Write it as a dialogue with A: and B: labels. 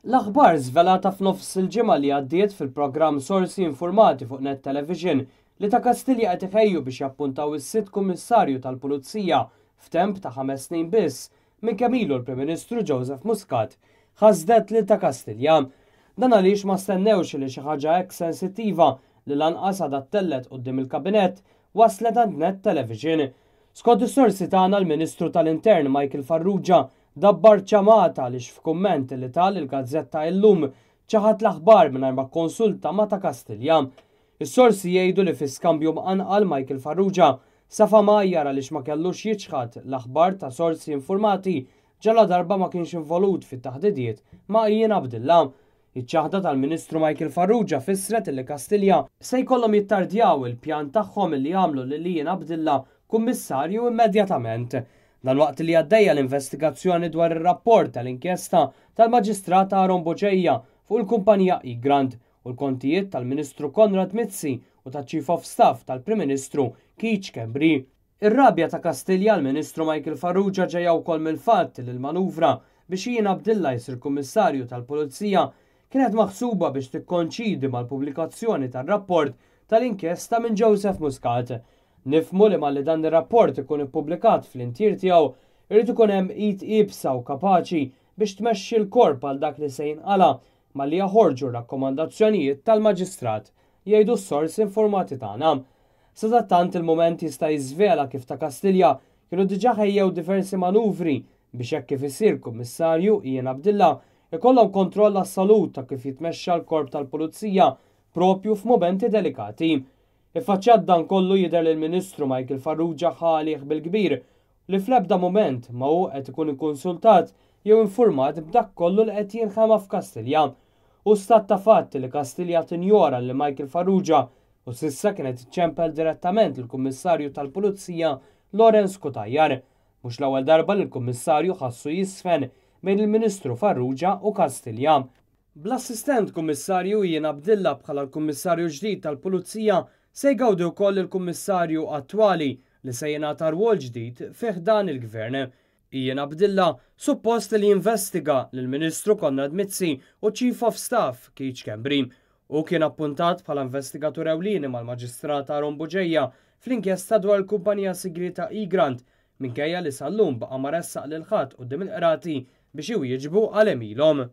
A: L-aħbar żvelata f'nofs il-ġimgħa li għaddiet fil-programm Sorsi Informati fuq Net Television li ta' Kastilja qed iħejju biex jappuntaw is-sitt Kummissarju tal-Pulizija f'temp ta' 5 snin biss minn kemm ilu l-Prim Ministru Joseph Muscat ħasdet lil ta' Kastilja. Dan għaliex ma stennewx li xi ħaġa hekk sensittiva li lanqas għadha ttellgħet quddiem il-kabinett waslet għand Net Television. Skont is-sorsi tagħna, l-Ministru tal-Intern Michael Farrugia dabbar ċamata għaliex f'kumment li ta lill-gazzetta Illum ċaħad l-aħbar mingħajr ma konsulta ma' ta' Kastilja. Is-sorsi jgħidu li fi skambju mqanqal Michael Farrugia safa mgħajjar għaliex ma kellux jiċħad l-aħbar ta' sorsi informati ġala darba ma kienx involut fit-taħdidiet ma' Ian Abdilla. Iċ-ċaħda tal-Ministru Michael Farrugia fissret li Kastilja se jkollhom jittardjaw il-pjan tagħhom li jagħmlu lil Ian Abdilla kummissarju immedjatament. Dan waqt li għaddejja l-investigazzjoni dwar ir-rapport tal-inkjesta tal-Maġistrat Aaron Bugeja fuq il-kumpanija Egrant u l-kontijiet tal-Ministru Konrad Mizzi u ta' Chief of Staff tal-Prim Ministru Keith Schembri. Ir-rabja ta' Kastilja l-Ministru Michael Farrugia ġejja wkoll mill-fatt li l-manuvra biex Ian Abdilla jsir kummissarju tal-Pulizija kienet maħsuba biex tikkoinċidi mal-pubblikazzjoni tar-rapport tal-inkjesta minn Joseph Muscat. Nifhmu li malli dan ir-rapport ikun ippubblikat fl-intier tiegħu, irid ikun hemm id iebsa u kapaċi biex tmexxi l-korp għal dak li se jinqala malli jaħorġu rakkomandazzjonijiet tal-maġistrat, jgħidu s-sorsi informati tagħna. Sadattant, il-mument jista' jiżvela kif ta' Kastilja kienu diġà ħejjew diversi manuvri biex hekk kif isir kummissarju Ian Abdilla ikollhom kontroll assolut ta' kif jitmexxa l-korp tal-Pulizija propju f'momenti delikati. Iffaċċjat dan kollu, jidher li l-Ministru Michael Farrugia ħalih bil-kbir li fl-ebda moment ma hu qed ikun ikkonsultat jew informat b'dak kollu li qed jinħema f'Kastilja. U stat ta' fatt li Kastilja tinjora li Michael Farrugia u s'issa kienet iċċempel direttament il-Kummissarju tal-Pulizija Lawrence Cutajar. Mhux l-ewwel darba li l-Kummissarju ħassu jisfen bejn il-Ministru Farrugia u Kastilja. Bl-assistent kummissarju Ian Abdilla bħala l-kummissarju ġdid tal-Pulizija, se jgawdi wkoll il-kummissarju attwali li se jingħata rwol ġdid fih dan il-gvern. Ian Abdilla suppost li jinvestiga lill-Ministru Konrad Mizzi u Chief of Staff Keith Schembri u kien appuntat bħala investigatur ewlieni mal-Maġistrat Aaron Bugeja fl-inkjesta dwar il-kumpanija sigrita Egrant, minkejja li sal-lum baqa' ma ressaq lil ħadd quddiem il-qrati biex iwieġbu għal għemilhom.